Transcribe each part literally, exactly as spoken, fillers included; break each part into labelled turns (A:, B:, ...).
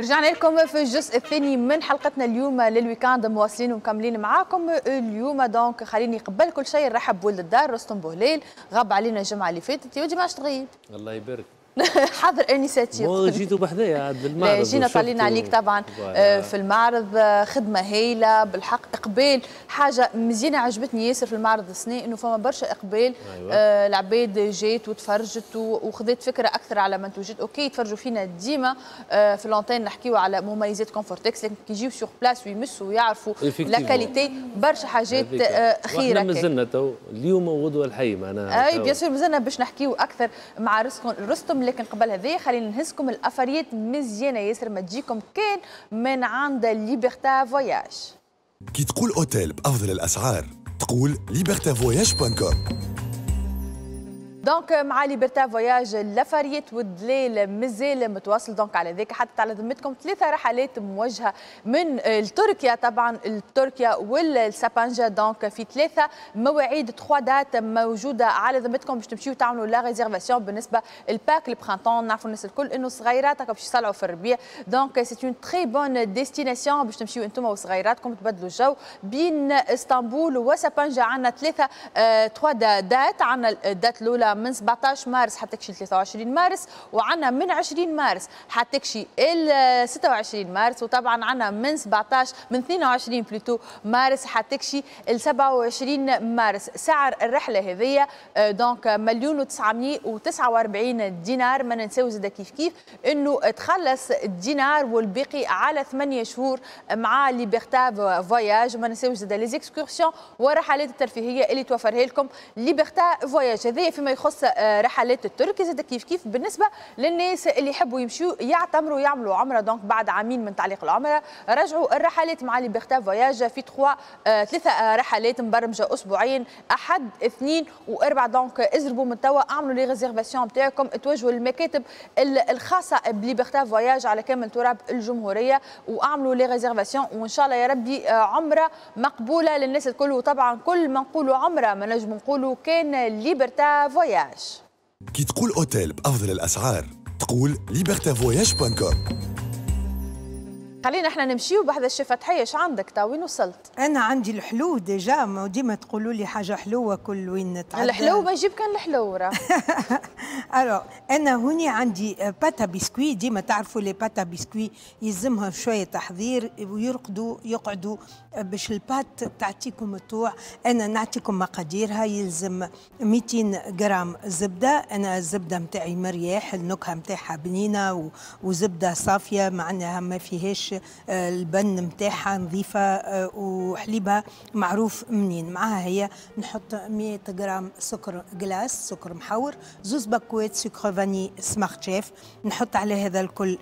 A: رجعنا لكم في الجزء الثاني من حلقتنا اليوم لل week-end، مواصلين ومكملين معاكم اليوم. donc خليني قبل كل شيء نرحب بولد الدار رستم بوهليل، غاب علينا الجمعة اللي فاتت، يا ودي ما عادش تغيب.
B: الله يبارك.
A: حاضر انساتي.
B: جيتوا بحذايا عند المعرض.
A: جينا طالعين عليك طبعا في المعرض، خدمة هايلة بالحق، اقبال حاجة مزيانه عجبتني ياسر في المعرض السنة انه فما برشا اقبال. أيوة. آه العباد جات وتفرجت وخذت فكرة اكثر على منتوجات. OK يتفرجوا فينا ديما آه في l'antenne نحكيو على مميزات Confortex، لكن كي يجيو sur place ويمسوا ويعرفوا la qualité برشا حاجات آه خيره.
B: مازلنا تو اليوم وغدوه الحي معناها.
A: اي bien sûr مازلنا باش نحكيو اكثر مع رستم، لكن قبل هذا خلينا نهزكم الافاريات مزيانه ياسر ما تجيكم كان من عند Liberta Voyages.
C: كي تقول اوتيل بافضل الاسعار تقول Liberta Voyages point com.
A: donc مع Liberta Voyages الافاريات والدليل مازال متواصل، donc على ذاك حتى على ذمتكم ثلاثة رحلات موجهة من تركيا، طبعا تركيا والسابانجا. donc في ثلاثة مواعيد trois dates موجودة على ذمتكم باش تمشيو تعملوا la réservation. بالنسبة ال pack ال printemps، نعرفوا الناس الكل انه صغيرات باش يطلعوا في الربيع، donc c'est une très bonne destination باش تمشيو انتم وصغيراتكم تبدلوا الجو بين اسطنبول وسابانجا. عندنا ثلاثة trois dates، عندنا ال date الاولى من سبعطاش مارس حتى كشي ثلاثة وعشرين مارس، وعندنا من عشرين مارس حتى كشي ال ستة وعشرين مارس، وطبعا عندنا من سبعطاش من اثنين وعشرين plutôt مارس حتى كشي ال سبعة وعشرين مارس. سعر الرحلة هذيا donc مليون وتسعمية وتسعة وأربعين دينار. ما ننساو زاد كيف كيف انه تخلص الدينار والباقي على ثمانية شهور مع Liberta Voyages. ما ننساوش زاد les excursions والرحلات الترفيهية اللي توفرها لكم Liberta Voyages. هذايا فيما يخص رحلات التركي. زاد كيف كيف بالنسبة للناس اللي يحبوا يمشوا يعتمروا يعملوا عمره، donc بعد عامين من تعليق العمرة رجعوا الرحلات مع Liberta Voyages في ثلاثة ثلاثة رحلات مبرمجه اسبوعيا، احد اثنين واربع. donc ازربوا من توا، اعملوا les réservations نتاعكم، توجهوا للمكاتب الخاصة ب Liberta Voyages على كامل تراب الجمهورية واعملوا les réservations، وان شاء الله يا ربي عمره مقبولة للناس الكل. وطبعا كل ما نقولوا عمره ما نجم نقولوا كان Liberta Voyages.
C: كي تقول اوتيل بافضل الاسعار تقول Liberta Voyages point com.
A: خلينا احنا نمشيو بحذا الشيف فتحية، اش عندك تا وين وصلت؟
D: انا عندي الحلو déjà، ما ديما تقولوا لي حاجة حلوة كل وين نتعدى.
A: الحلو ما يجيب كان الحلو راه.
D: alors انا هوني عندي pâte à biscuits، ديما تعرفوا les pâtes à biscuits يلزمها شوية تحضير ويرقدوا يقعدوا باش ال pâte تعطيكم الطوع. انا نعطيكم مقاديرها. يلزم مئتين غرام زبده، انا الزبدة نتاعي مرياح، النكهة نتاعها بنينه وزبده صافية معناها ما فيهاش البن نتاعها نظيفة وحليبها معروف منين. معاها هي نحط مية غرام سكر glace، سكر محور، زوز باكوات sucre vanillé Smart Chef، نحط على هذا الكل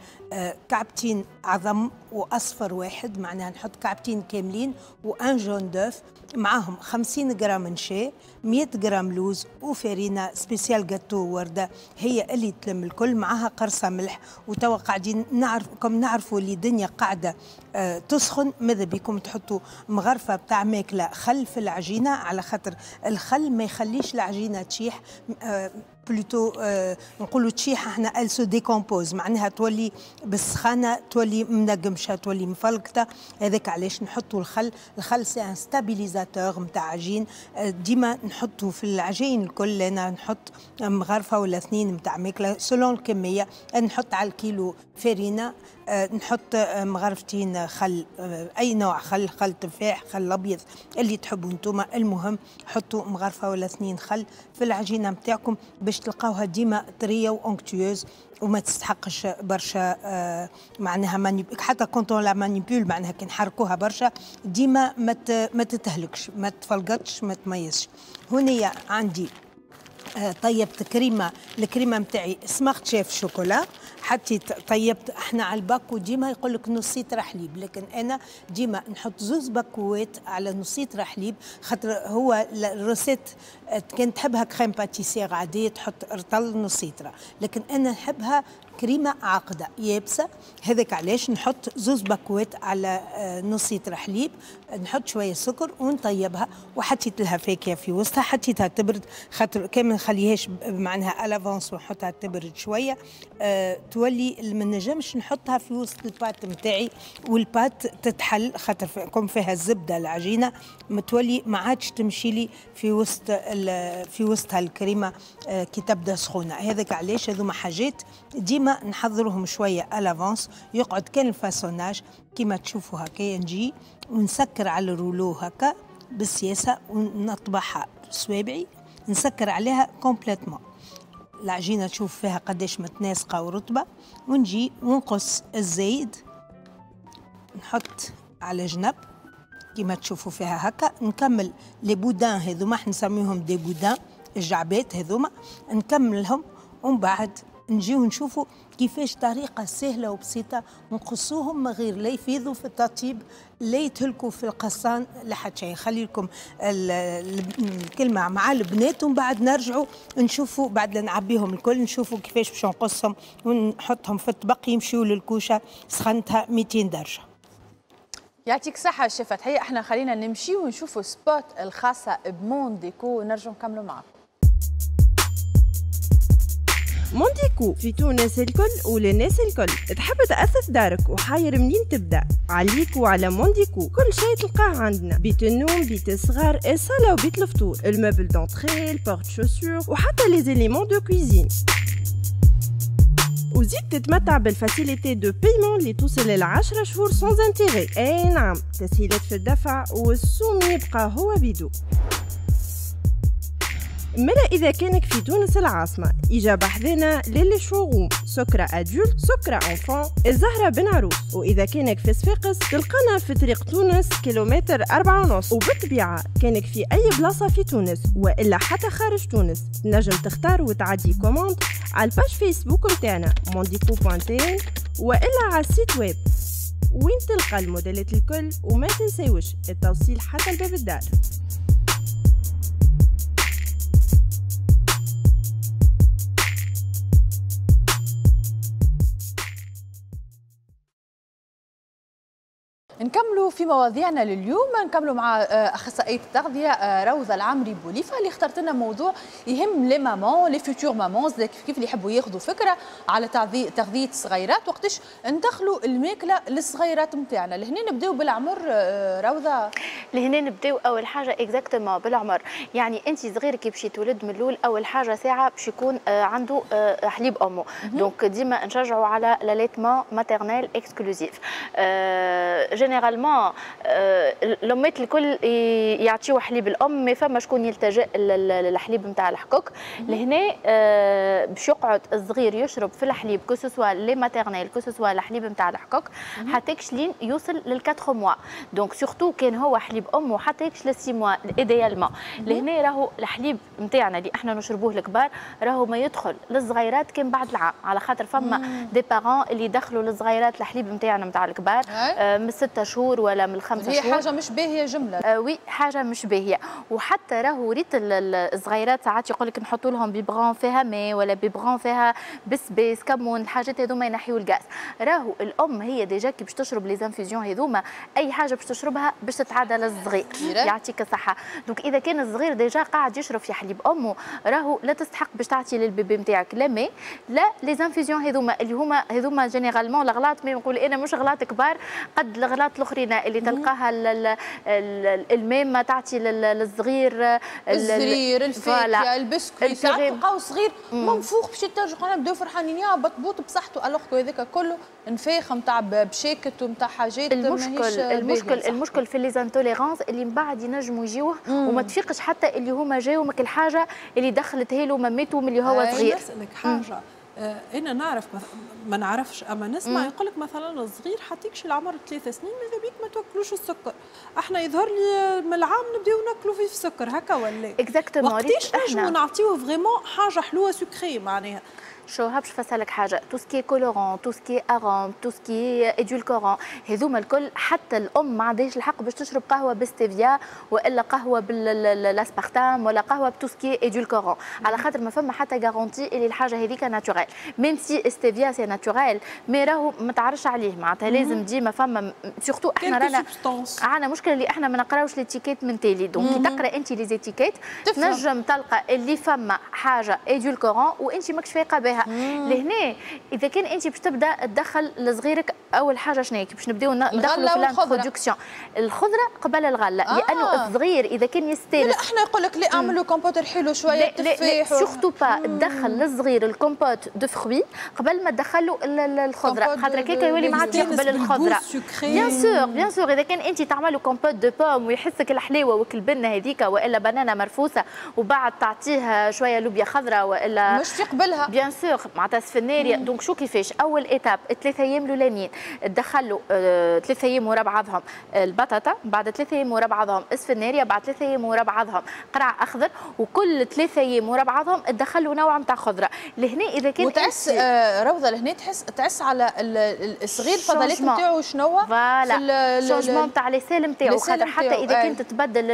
D: كعبتين عظم واصفر واحد، معناها نحط كعبتين كاملين و un jaune d'œuf، معاهم خمسين غرام نشا، مية غرام لوز، وفارينه spéciale gâteau ورده هي اللي تلم الكل، معاها قرصة ملح. وتوا قاعدين نعرف كم نعرفوا اللي الدنيا قاعدة آه تسخن، ماذا بكم تحطوا مغرفه بتاع ماكله خل في العجينه، على خاطر الخل ما يخليش العجينة تشيح، آه plutôt آه نقولوا تشيح احنا elle se décompose، معناها تولي بالسخانه تولي منقمشه تولي مفلقطه. هذاك علاش نحطوا الخل. الخل c'est un stabilisateur نتاع عجين، آه ديما نحطوا في العجين الكل. انا نحط مغرفه ولا اثنين نتاع ماكله selon الكميه، نحط على الكيلو فرينه آه نحط مغرفتين خل، آه اي نوع خل، خل تفاح، خل ابيض، اللي تحبوا انتم. المهم حطوا مغرفه ولا اثنين خل في العجينة نتاعكم باش تلقاوها ديما طرية و onctueuse وما تستحقش برشا آه معناها manip حتى quand on la manipule، معناها كي نحركوها برشا ديما ما ما تتهلكش، ما تفلقطش، ما تميزش. هنا عندي آه طيبت كريمه، الكريمة نتاعي Smart Chef chocolat. حطيت طيبت احنا على الباكو ديما يقول لك نص لتر حليب، لكن انا ديما نحط زوز باكوات على نص لتر حليب، خاطر هو ال recette كان تحبها crème pâtissière عادية تحط رطل نص لتر، لكن انا نحبها كريمة عاقده يابسة. هذاك علاش نحط زوز باكوات على نص لتر حليب، نحط شوية سكر ونطيبها، وحطيت لها فاكهة في وسطها، حطيتها تبرد خاطر كان ما نخليهاش معناها à l'avance ونحطها تبرد شوية أه تولي ما نجمش نحطها في وسط ال pâte نتاعي وال pâte تتحل خاطر comme فيها الزبدة العجينة متولي ما عادش تمشي لي في وسط في وسطها الكريمة أه كي تبدا سخونة. هذاك علاش هذوما حاجات ديما نحضرهم شوية à l'avance، يقعد كان ال façonnage كيما تشوفوا هكايا، نجي ونسكر على ال rouleau هكا بالسياسة ونطبعها بصوابعي، نسكر عليها complètement العجينة، تشوف فيها قداش متناسقه ورطبه، ونجي ونقص الزايد نحط على جنب كيما تشوفوا فيها هكا. نكمل les boudins هذوما، احنا نسميهم des boudins الجعبات هذوما، نكملهم ومن بعد نجيو نشوفوا كيفاش طريقة سهلة وبسيطة نقصوهم من غير لا يفيضوا في التطيب لا يتهلكوا في القصان لا حتى شيء. خلي لكم الكلمة مع البنات ومن بعد نرجعوا نشوفوا بعد نعبيهم الكل نشوفوا كيفاش باش نقصهم ونحطهم في الطبق يمشيوا للكوشة سخنتها مئتين درجة.
A: يعطيك صحة الشيف فتحية. احنا خلينا نمشي ونشوفوا spot الخاصة ب Mondéco ونرجعوا نكملوا معكم.
E: Mondéco في تونس الكل وللناس الكل. تحب تأثث دارك وحاير منين تبدأ؟ عليك وعلى Mondéco، كل شيء تلقاه عندنا، بيت النوم، بيت الصغار، الصالة وبيت الفطور، ال meuble d'entrée، ال porte-chaussures، وحتى les éléments de cuisine. وزيد تتمتع بال facilité de paiement اللي توصل للعشرة شهور sans intérêt. اي نعم، تسهيلات في الدفع والسوم يبقى هو بيدو. ملا إذا كانك في تونس العاصمة إجا بحذنا لل showroom سكرة adulte، سكرة enfant، الزهرة بن عروس. وإذا كانك في صفاقس تلقانا في طريق تونس كيلومتر أربعة ونص. وبالطبيعة كانك في أي بلاصة في تونس وإلا حتى خارج تونس تنجم تختار وتعدي commande على ال page Facebook متاعنا Mondéco point tn وإلا على ال site web وين تلقى الموديلات الكل. وما تنساوش التوصيل حتى لباب الدار.
A: نكملوا في مواضيعنا لليوم، نكملوا مع اخصائية التغذية روضة العمري بوليفه اللي اخترت لنا موضوع يهم les mamans، les futures mamans، كيف اللي يحبوا ياخذوا فكرة على تغذية الصغيرات، وقتاش ندخلوا الماكلة للصغيرات نتاعنا. لهنا نبداو بالعمر روضة.
F: لهنا نبداو اول حاجة exactement بالعمر، يعني انت صغير كي باش يتولد من الاول اول حاجة ساعة باش يكون عنده حليب امه، donc ديما نشجعوا على l'allaitement maternel exclusif. généralement الامات الكل يعطيو حليب الام، mais فما شكون يلتجئ للحليب نتاع الحكوك. لهنا باش يقعد الصغير يشرب في الحليب que ce soit lait maternel que ce soit الحليب نتاع الحكوك حتى لين يوصل لل quatre mois، donc surtout كان هو حليب امه حتى ل six mois idéalement. لهنا راهو الحليب نتاعنا اللي احنا نشربوه الكبار راهو ما يدخل للصغيرات كان بعد العام، على خاطر فما des parents اللي دخلوا للصغيرات الحليب نتاعنا نتاع الكبار من ستة شهور ولا من الخمسة شهور.
A: هي حاجة مش باهية جملة.
F: آه oui حاجة مش باهية. وحتى راهو ريت الصغيرات ساعات يقول لك نحطوا لهم biberon فيها ماء ولا biberon فيها بسباس كمون، الحاجات هذوما ينحيوا الغاز. راهو الأم هي déjà كي باش تشرب les infusions هذوما أي حاجة باش تشربها باش تتعدى للصغير. يعطيك الصحة. donc إذا كان الصغير déjà قاعد يشرب في حليب أمه راهو لا تستحق باش تعطي لل bébé نتاعك لا ماء لا les infusions هذوما اللي هما هذوما généralement الغلاط، mais نقول أنا مش غلاط كبار قد الغلاط الاخرين اللي تلقاها الماء تعطي للصغير،
A: الزرير، الفاكهة، البسكويت. ساعات تلقاو صغير منفوخ باش يترجع، نبداو فرحانين يا بطبوط بصحته، alors هذاك كله نفاخ نتاع بشاكت ونتاع حاجات.
F: المشكل المشكل المشكل في les intolérances اللي من بعد ينجموا يجيوه وما تفيقش حتى اللي هما جاو مك الحاجة اللي دخلتها له مامته من اللي هو صغير.
G: نسالك حاجة، انا نعرف ما نعرفش اما نسمع يقول لك مثلا الصغير حتيكش العمر ثلاث سنين ماذا بيك ما توكلوش السكر، احنا يظهر لي من العام نبداو ناكلوا فيه السكر هكا ولا
F: exactement.
G: وقتاش نجموا نعطيوه vraiment حاجة حلوة sucrée معناها؟
F: شو باش نفسرلك حاجة، tout ce qui est colorant، tout ce qui est arôme، tout ce qui est édulcorant، هذوما الكل حتى الام ما عندهاش الحق باش تشرب قهوة بالستيفيا والا قهوة بالاسبارتام ولا قهوة ب tout ce qui est édulcorant، على خاطر ما فما حتى garantie اللي الحاجة هذيك naturelle، même si stevia c'est naturel mais راهو ما تعرفش عليه، معناتها لازم ديما فما surtout احنا رانا عندنا مشكلة اللي احنا ما نقراوش l'étiquette من تالي، donc كي تقرا انت les étiquettes تنجم تلقى اللي فما حاجة édulcorant وانت ماكش فايقه بها. لهنا اذا كان انت باش تبدا تدخل لصغيرك اول حاجة شنو باش نبداو ندخلوا في l'introduction الخضرة قبل الغلة، آه. لانه الصغير اذا كان يستانس
A: لا احنا يقول لك لا اعملوا كومبوت حلو شوية تفاح
F: surtout pas تدخل للصغير ال compote de fruits قبل ما تدخلوا الخضرة، خاطر هكاك يولي ما عادش يقبل الخضرة. bien sûr bien sûr اذا كان انت تعملوا compote de pommes ويحسك الحلاوة وكل البنه هذيك والا بنانه مرفوسه وبعد تعطيه شوية لوبيا خضراء والا
A: مش يقبلها
F: bien sûr معناتها سفناريا. donc شو كيفاش اول étape ثلاثة ايام الاولانيين تدخلوا آه، ثلاثة ايام ورا بعضهم البطاطا، بعد ثلاثة ايام ورا بعضهم السفناريا، بعد ثلاثة ايام ورا بعضهم قرع اخضر، وكل ثلاثة ايام ورا بعضهم تدخلوا نوع نتاع خضرة. لهنا اذا كان
A: وتعس آه روضة لهنا تحس تعس على الصغير الفضلات نتاعو شنو
F: voilà changement تاع les selles نتاعو، خاطر حتى اذا كانت تتبدل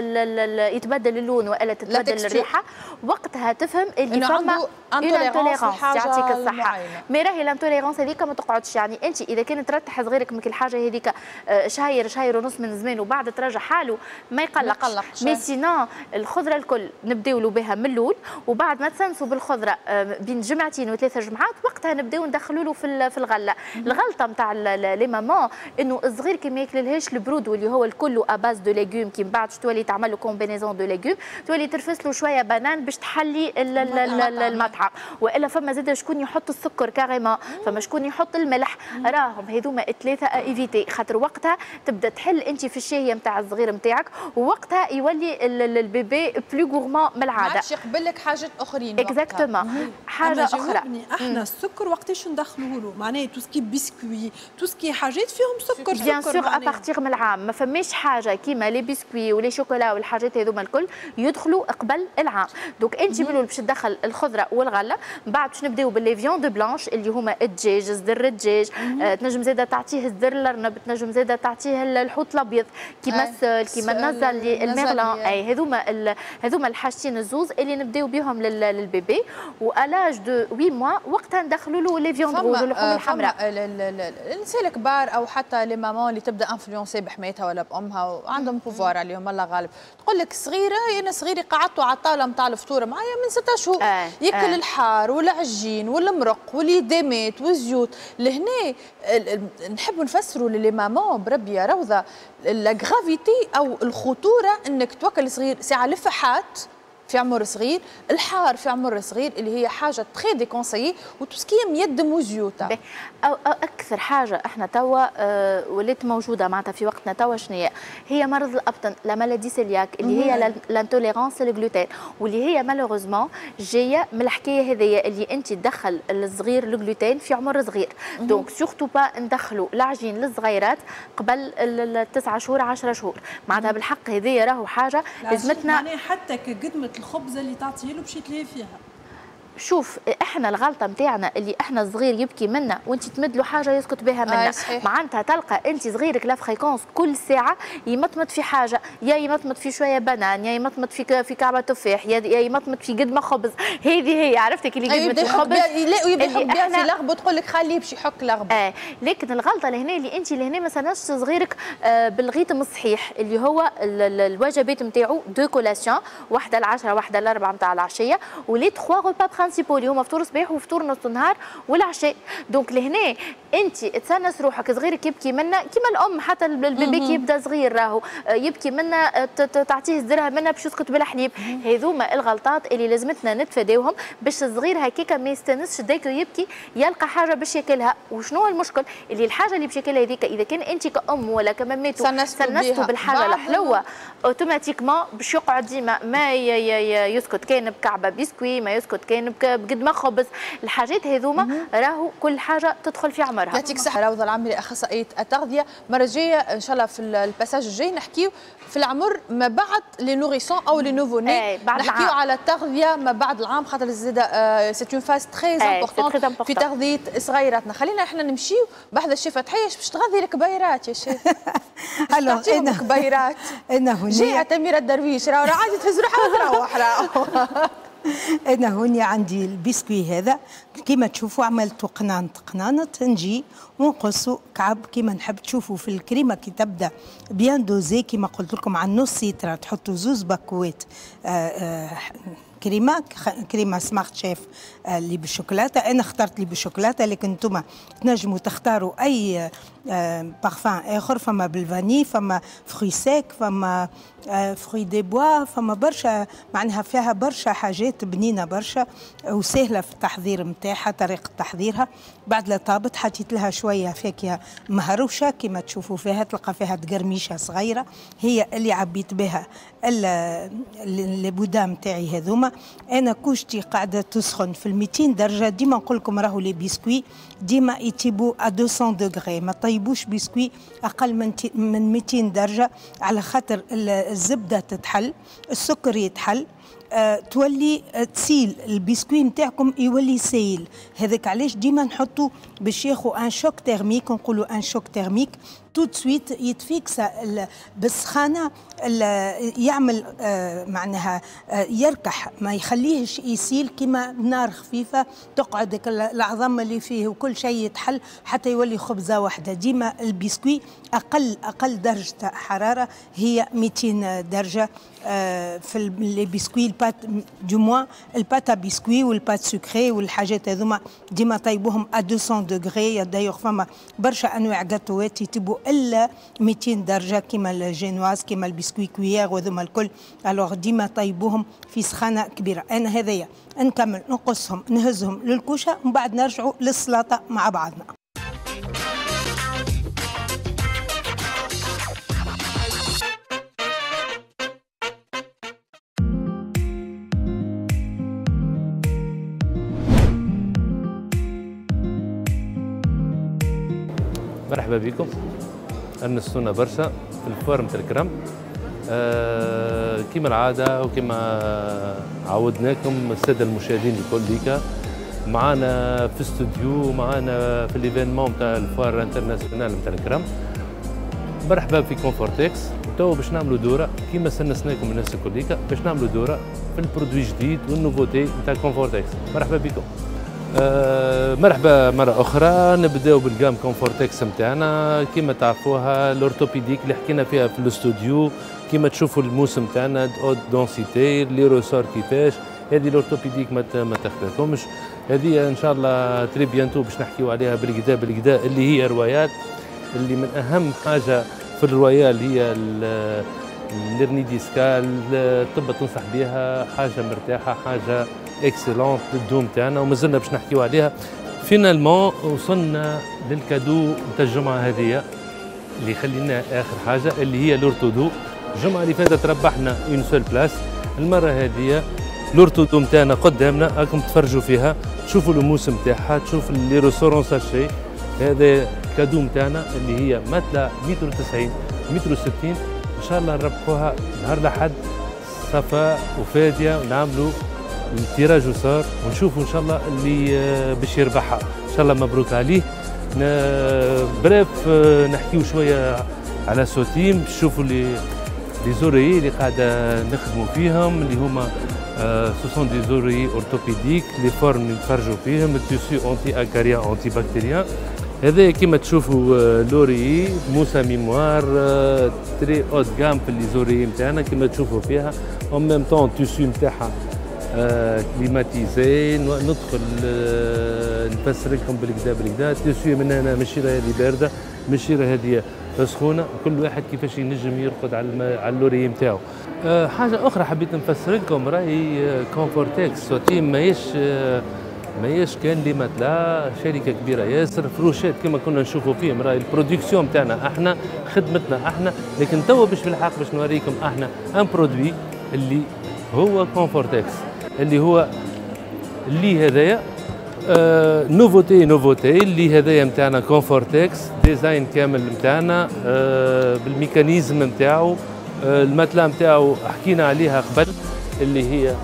F: يتبدل اللون والا تتبدل الريحة وقتها تفهم اللي فما intolérance. يعطيك الصحة، mais راهي l'intolérance هذيك ما تقعدش، يعني انت اذا كانت ترتح صغيرك من الحاجة هذيك آه، شهير شهير ونص من زمان وبعد تراجع حاله ما يقلقش، mais sinon الخضرة الكل نبداو له بها من الاول، وبعد ما تسنسوا بالخضره آه، بين جمعتين وثلاثة جمعات وقتها نبداو ندخلوا له في في الغلة. الغلطة نتاع les mamans انه الصغير كي ما ياكللهاش البرود واللي هو الكل à base de légumes، كي من بعد تولي تعمل له combinaison de légumes تولي ترفس له شوية banane باش تحلي المطعم، والا فما زاد شكون يحط السكر carrément، فما شكون يحط الملح، راهم هذوما ثلاثة à éviter، خاطر وقتها تبدا تحل انت في الشهية نتاع الصغير نتاعك، ووقتها يولي ال bébé plus gourmand من العادة، ما
A: عادش يقبل لك حاجات اخرين.
F: exactement. حاجة اخرى
G: احنا السكر وقتاش ندخلوه له؟ معناها tout ce qui est biscuits، tout ce qui est حاجات فيهم سكر.
F: bien sûr à partir من العام ما فماش حاجة كيما les biscuits و les chocolats والحاجات هذوما الكل يدخلوا قبل العام. donc انت من باش تدخل الخضرة والغلة، من بعد باش نبداو ب les viandes blanches اللي هما الدجاج، صدر الدجاج، آه تنجم زاده تعطيه صدر الارنب، تنجم زاده تعطيه الحوت الابيض كيما ال sole، كيما النزلي، ال merlan، اي هذوما هذوما الحاجتين الزوز اللي نبداو بهم لل bébé. و à l'âge de huit mois وقتها ندخلوا له les viandes rouges، اللحوم الحمراء.
A: النساء الكبار او حتى les mamans اللي تبدا influencées بحماتها ولا بامها وعندهم pouvoir عليهم الله غالب، تقول لك صغيرة انا صغيري قعدت على الطاولة نتاع الفطور معايا من ستة شهور آه. ياكل آه. الحار والعجين والمرق واليدامات والزيوت. لهنا نحب نفسروا ل les mamans بربي يا روضة la gravité او الخطورة انك توكل صغير ساعة لفحات في عمر صغير، الحار في عمر صغير اللي هي حاجة très déconseillée، و tout ce qui est ميدم وزيوت.
F: أو, أو اكثر حاجة احنا توا آه ولات موجودة معناتها في وقتنا توا شنو هي؟ هي مرض الابطن، la maladie cœliaque اللي هي l'intolérance لل gluten، واللي هي malheureusement جاية من الحكاية هذيا اللي انت تدخل الصغير الجلوتين في عمر صغير. donc surtout pas ندخلوا العجين للصغيرات قبل التسعة شهور عشرة شهور، معناتها بالحق هذيا راهو حاجة لازمتنا.
G: معناها حتى كقدمه الخبزة اللي تعطيه له باش يتلهي فيها.
F: شوف احنا الغلطة نتاعنا اللي احنا صغير يبكي منا وانت تمد له حاجة يسكت بها منا. آه معناتها تلقى انت صغيرك la fréquence كل ساعة يمطمط في حاجة، يا يمطمط في شوية banane، يا يمطمط في في كعبه تفاح، يا يمطمط في قدمه خبز. هذه هي عرفتك اللي قدمه الخبز
A: لا ويبدا يحك بها في لغبه تقول لك خليه باش يحك لغبه.
F: آه لكن الغلطة لهنا اللي انت لهنا ما سناش صغيرك آه بال rythme الصحيح اللي هو الوجبات نتاعو deux collations، واحدة العشرة واحدة الاربعة نتاع العشية، و les trois repas principaux اللي هما فطور الصباح وفطور نص النهار والعشاء. donc لهنا انت تسنس روحك صغيرك يبكي منا كيما الام، حتى ال bébé كي يبدا صغير راهو يبكي منا تعطيه الزرها منا باش يسكت بالحليب. هذوما الغلطات اللي لازمتنا نتفاداوهم باش الصغير هكاك ما يستانسش dès que يبكي يلقى حاجة باش ياكلها. وشنو المشكل اللي الحاجة اللي باش ياكلها هذيك اذا كان انت كأم ولا كماماتو سنستو بالحاجة الحلوة automatiquement باش يقعد ديما ما يسكت كان بكعبه بسكوي، ما يسكت كان بقد ما خبز، الحاجات هذوما راهو كل حاجة تدخل في عمرها.
A: يعطيك الصحة روضة العمري اخصائية التغذية. المرة الجاية ان شاء الله في ال passage الجاي نحكيو في العمر ما بعد les nourrissons او les nouveau-nés، نحكيو على التغذية ما بعد العام، خاطر زاده c'est une phase très importante في تغذية صغيراتنا. خلينا احنا نمشيو بحذا الشيف فتحيه باش تغذي الكبيرات يا شيف.
D: alors انا
A: كبيرات
D: انا هنا
A: جاية أميرة الدرويش راهو عادي تهز روحها وتروح راهو.
D: انا هوني عندي البسكوي هذا كيما تشوفوا عملته قنانط قنانط، نجي ونقصوا كعب كيما نحب. تشوفوا في الكريمة كي تبدا bien dosée كيما قلت لكم على نص لتر تحطوا زوز باكوات كريمة كريمة سمارت شيف اللي بالشوكولاته. انا اخترت اللي بالشوكولاته، لكن انتم تنجموا تختاروا اي بارفان اخر. فما بال vanille، فما fruits secs، فما fruits des bois، فما برشا، معناها فيها برشا حاجات بنينه برشا وسهلة في التحضير نتاعها، طريقه تحضيرها. بعد لا طابت حطيت لها شوية فاكهة مهروشه كما تشوفوا فيها، تلقى فيها تقرميشه صغيرة هي اللي عبيت بها les boudins نتاعي هذوما. انا كوشتي قاعدة تسخن في مئتين درجه. ديما نقول لكم راهو les biscuits ديما يطيبوا à مئتين degrés، ما طيبوش بسكوي اقل من من مئتين درجه، على خاطر الزبدة تتحل، السكر يتحل، أه تولي تسيل البسكوي نتاعكم يولي سايل. هذاك علاش ديما نحطوا باش ياخذ un choc thermique، نقولوا un choc thermique tout de suite يتفيكسا بالسخانه، يعمل آه معناها آه يركح، ما يخليهش يسيل كيما نار خفيفة تقعد العظم اللي فيه وكل شيء يتحل حتى يولي خبزه واحدة. ديما البسكوي اقل اقل درجه حرارة هي مئتين درجه آه في les biscuits، ال pâte du moins ال pâte à biscuits وال pâte sucrée والحاجات هذوما ديما طيبوهم à مئتين degrés. d'ailleurs فما برشا انواع جاتوات يطيبوا الا مئتين درجه كيما الجينواز كيما ال biscuit cuillère وهذوما الكل. alors ديما طيبوهم في سخانه كبيرة. انا هذايا نكمل نقصهم نهزهم للكوشه ومن بعد نرجعوا للسلطة مع بعضنا.
B: مرحبا بكم، أنستونا برشا في ال foire نتاع الكرم. آه كما العادة وكما عودناكم السادة المشاهدين الكل ليكا معانا في استوديو، معانا في l'événement نتاع ال foire internationale نتاع الكرم. مرحبا في كونفورتكس. تو باش نعملوا دوره كيما سنسناكم الناس الكل ليكا، باش نعملوا دوره في ال produit جديد وال nouveautés نتاع كونفورتكس. مرحبا بكم. أه مرحبا مرة أخرى. نبداو بال gamme كونفورتكس نتاعنا كيما تعرفوها ال orthopédique اللي حكينا فيها في الاستوديو. كيما تشوفوا الموسم نتاعنا haute densité les ressorts كيفاش هذه ال orthopédique ما تخفاكمش. هذه ان شاء الله très bientôt باش نحكيو عليها بالكدا بالكدا اللي هي royale، اللي من اهم حاجة في ال royale هي ال l'hernie discale. الطب تنصح بها، حاجة مرتاحة، حاجة excellente لل dos تاعنا ومازلنا باش نحكيو عليها. finalement وصلنا لل cadeau نتاع الجمعة هذه اللي خلينا اخر حاجة اللي هي l'orthodo. الجمعة اللي فاتت ربحنا une seule place، المرة هذه l'orthodo نتاعنا قدامنا راكم تفرجوا فيها، تشوفوا الموسم تاعها، تشوف les ressorts en sachet. هذا cadeau نتاعنا اللي هي matelas متر وتسعين متر وستين، ان شاء الله نربحوها نهار الاحد صفاء وفاديه ونعملوا ال tirage au sort ونشوفوا ان شاء الله اللي باش يربحها. ان شاء الله مبروك عليه. bref نحكيو شوية على سوتيم، تشوفوا les les oreillers اللي قاعدة نخدموا فيهم اللي هما ce sont des oreillers orthopédiques، les formes اللي نتفرجوا فيهم، ال tissu anti-acarien antibactérien. هذا كيما تشوفوا l'oreiller mousse mémoire très haut de gamme في les oreillers نتاعنا كيما تشوفوا فيها. en même temps ال tissu نتاعها climatisé. ندخل نفسر لكم بالكدا بالكدا. ال tissu من هنا مش هذه باردة، مش هذه سخونة، كل واحد كيفاش ينجم يرقد على على l'oreiller نتاعو. حاجة اخرى حبيت نفسر لكم، راهي كونفورتكس سوتيم ماهيش ماهيش كان les matelas، شركة كبيرة ياسر، فروشات كما كنا نشوفوا فيهم، راهي ال production تاعنا احنا، خدمتنا احنا. لكن توا باش بالحق باش نوريكم احنا un produit اللي هو كونفورتكس، اللي هو اللي هذايا آه nouveauté nouveauté اللي هذايا نتاعنا Confortex design كامل نتاعنا آه بال mécanisme نتاعو. آه ال matelas نتاعو حكينا عليها قبل اللي هي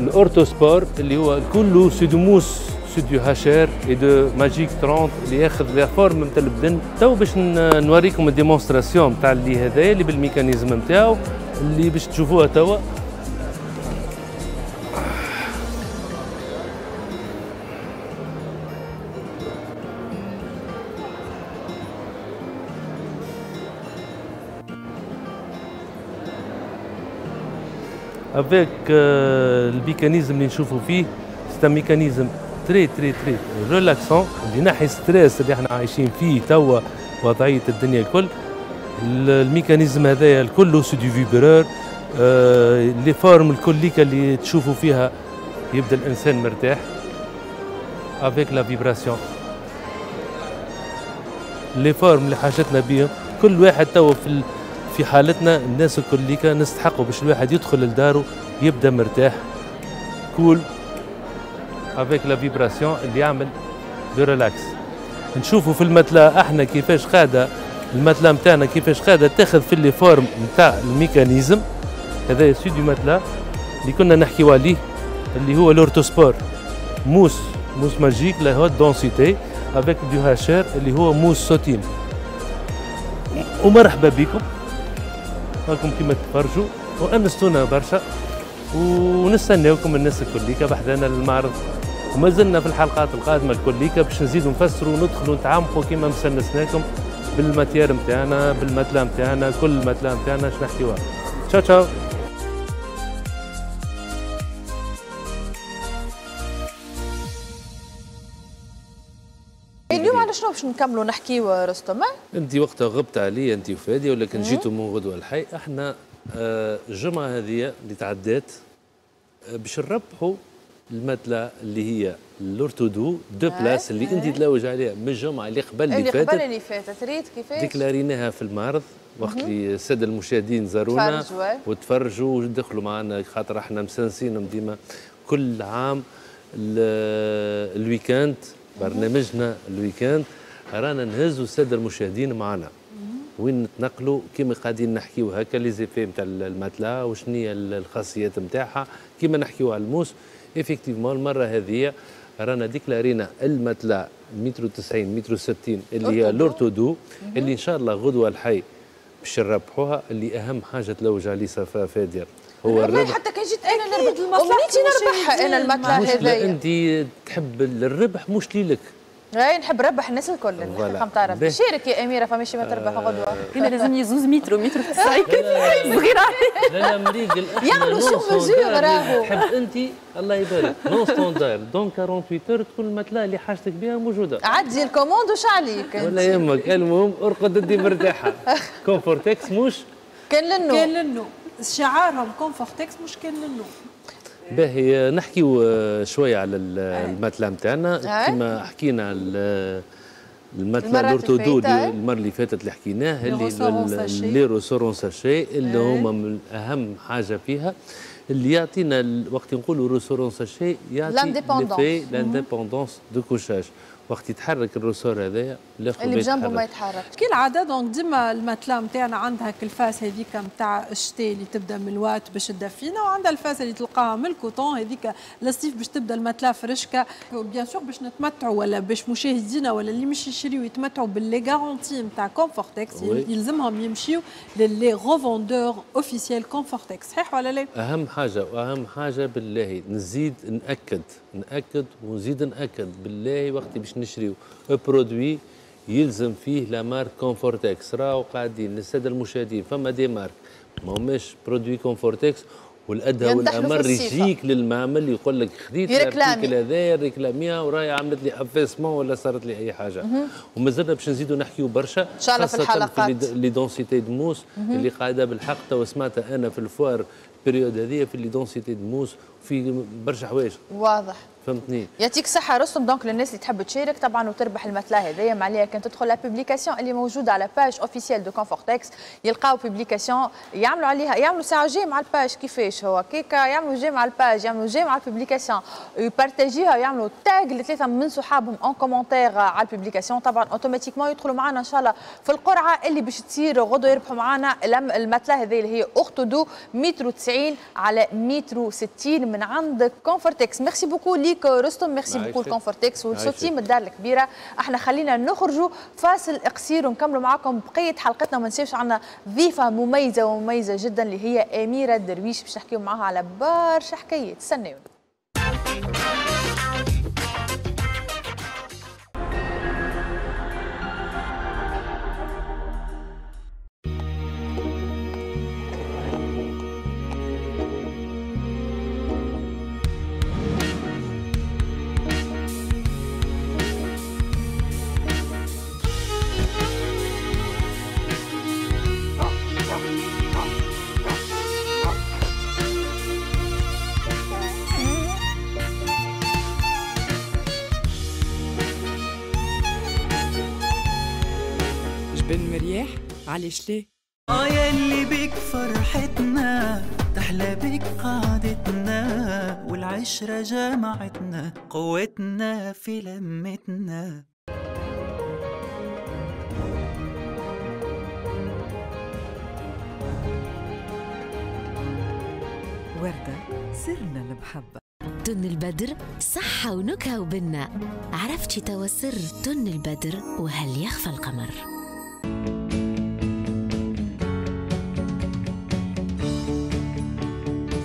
B: ال Orthosport اللي هو كله c'est de mousse c'est du HR et de magique ثلاثين اللي ياخذ la forme نتاع البدن. تو باش نوريكم ال démonstration نتاع اللي هذايا اللي بال mécanisme نتاعو اللي باش تشوفوها توا. avec ال mécanisme اللي نشوفوا فيه c'est un mécanisme très très très relaxant اللي ينحي stress اللي احنا عايشين فيه توا وضعية الدنيا الكل. ال mécanisme هذايا الكل c'est du vibreur، les formes الكليكه اللي تشوفوا فيها يبدا الانسان مرتاح avec la vibration. les formes اللي حاجتنا بيهم كل واحد توا في في حالتنا الناس الكليكه نستحقوا باش الواحد يدخل لدارو يبدا مرتاح cool avec la vibration اللي يعمل de relax. نشوفوا في ال matelas احنا كيفاش قاعدة ال matelas نتاعنا كيفاش قاعدة تاخذ في les formes نتاع ال mécanisme هذا c'est du matelas اللي كنا نحكيو عليه اللي هو ال Orthosport mousse mousse magique la haute densité avec du HR اللي هو mousse sautine. ومرحبا بكم راكم كيما تفرجوا وانستونا برشا ونستناوكم الناس الكليكه بحذانا للمعرض، وما زلنا في الحلقات القادمة الكليكه باش نزيدوا نفسروا وندخلوا نتعمقوا كيما مسنسناكم بال matière نتاعنا بال matelas نتاعنا كل matelas نتاعنا اش نحكيوها. تشاو تشاو.
A: اليوم على شنو باش نكملوا نحكيو رستم؟
B: انت وقتها غبت علي انت وفادي ولكن جيتوا من غدوه الحي. احنا الجمعة هذه اللي تعدات باش نربحوا ال matelas اللي هي ال Orthodo deux places اللي انت تلوج عليها من الجمعة اللي قبل اللي فاتت
A: اللي قبل اللي فاتت ريت كيفاش
B: déclar يناها في المعرض وقت اللي السادة المشاهدين زارونا وتفرجوا ودخلوا معنا خاطر احنا مسنسينهم ديما كل عام ال week-end برنامجنا ال week-end رانا نهزوا السادة المشاهدين معنا وين نتنقلوا كيما قاعدين نحكيو هكا les effets نتاع ال matelas وشنو هي الخاصيات نتاعها كيما نحكيو على ال mousse. effectivement المرة هذه رانا déclar ينا ال matelas متر تسعين متر ستين اللي هي l'Orthodo اللي ان شاء الله غدوه الحي باش نربحوها. اللي اهم حاجة تلوج عليه صفاء فاديه هو الربح.
A: حتى كان جيت انا نربح امنيتي نربحها انا ال matelas هذايا.
B: انت تحب الربح مش ليلك.
A: اي نحب نربح الناس الكل الحقيقة نتاع شارك يا اميره فماشي ما تربح غدوه.
E: انا لازمني زوز متر متر تسعين صغيرة.
B: لا لا مريقل
A: يعملوا sur mesure راهو.
B: تحب انت الله يبارك non standard dans ثمانية وأربعين heures تكون ال matelas اللي حاجتك بها موجودة.
A: عدي ال commande وش عليك
B: ولا يهمك، المهم ارقد انت مرتاحة. Confortex مش
A: كان للنوم
G: كان للنوم شعارهم Confortex مش كان للنوم.
B: باهي نحكيو شوية على ال matelas نتاعنا كما حكينا ال matelas l'Orthodo المرة اللي فاتت اللي حكيناه اللي les ressorts en sachet اللي هما من اهم حاجة فيها اللي يعطينا وقت نقولوا ressort en sachet يعطي l'effet l'indépendance de couchage. وقت يتحرك ال ressort هذايا
A: الاخر اللي بجنبه ما يتحرك
G: كالعادة. donc ديما ال matelas نتاعنا عندها ال face هذيك نتاع الشتاء اللي تبدا من ال ouate باش تدفينا، وعندها ال face اللي تلقاها من ال coton هذيك للصيف باش تبدا ال matelas فرشكه. bien sûr باش نتمتعوا ولا باش مشاهدينا ولا اللي مش يشريو يتمتعوا ب les garanties نتاع Confortex يلزمهم يمشيو ل les revendeurs officiels Confortex، صحيح ولا لا؟
B: اهم حاجة واهم حاجة بالله نزيد ناكد ناكد ونزيد ناكد بالله وقت باش نشريو produit يلزم فيه la marque Confortex. راهو قاعدين للسادة المشاهدين فما des marques ما هماش produit Confortex، والادهى والامر يجيك للمعمل يقول لك خذيت ال article هذايا réclam يها وراهي عملت لي affaissement ولا صارت لي اي حاجة. ومازلنا باش نزيدوا نحكيو برشا
A: ان شاء الله في الحلقات
B: les densités de mousse اللي قاعدة بالحق تو سمعتها انا في ال foire ال période هذه في les densités de mousse في برشا حوايج.
A: واضح.
B: فهمتني.
A: يعطيك الصحة رستم. donc للناس اللي تحب تشارك طبعا وتربح ال matelas هذايا، ما عليها كان تدخل la publication اللي موجودة على page officielle de Confortex، يلقاو publication يعملوا عليها، يعملوا ساعة j'aime على ال page، كيفاش هو كيكا يعملوا j'aime على ال page، يعملوا j'aime على ال publication، يبارتاجيها ويعملوا tag لثلاثة من صحابهم en commentaire على ال publication، طبعا automatiquement يدخلوا معنا ان شاء الله في القرعة اللي باش تصير غدوة، يربحوا معنا ال matelas هذه اللي هي orthodo متر وتسعين على متر وستين من عند Confortex. merci beaucoup ليك رستم، merci beaucoup Confortex والسوتيم الدار الكبيرة. احنا خلينا نخرجوا فاصل قصير ونكملوا معاكم بقية حلقتنا، وما ننساوش عندنا ضيفه مميزة ومميزة جدا اللي هي اميره الدرويش باش نحكيو معاها على برشا حكايات. استناونا.
H: مرياح علاش ليه؟
I: اه ياللي بيك فرحتنا تحلى بيك قعدتنا والعشرة جمعتنا قوتنا في لمتنا.
H: وردة سرنا المحبة.
J: تن البدر صحة ونكهة وبنة، عرفتي توا سر تن البدر وهل يخفى القمر.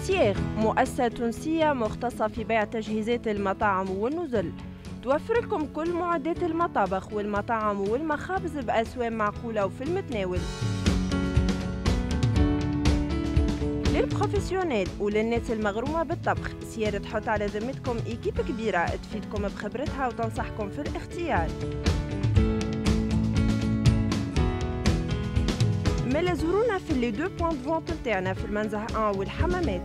E: سياغ مؤسسة تونسية مختصة في بيع تجهيزات المطاعم والنزل، توفر لكم كل معدات المطابخ والمطاعم والمخابز بأسوام معقولة وفي المتناول. لل professionnels وللناس المغرومة بالطبخ، سيارة تحط على ذمتكم équipe كبيرة تفيدكم بخبرتها وتنصحكم في الاختيار. ملا زورونا في les deux points de vente نتاعنا في المنزه واحد والحمامات.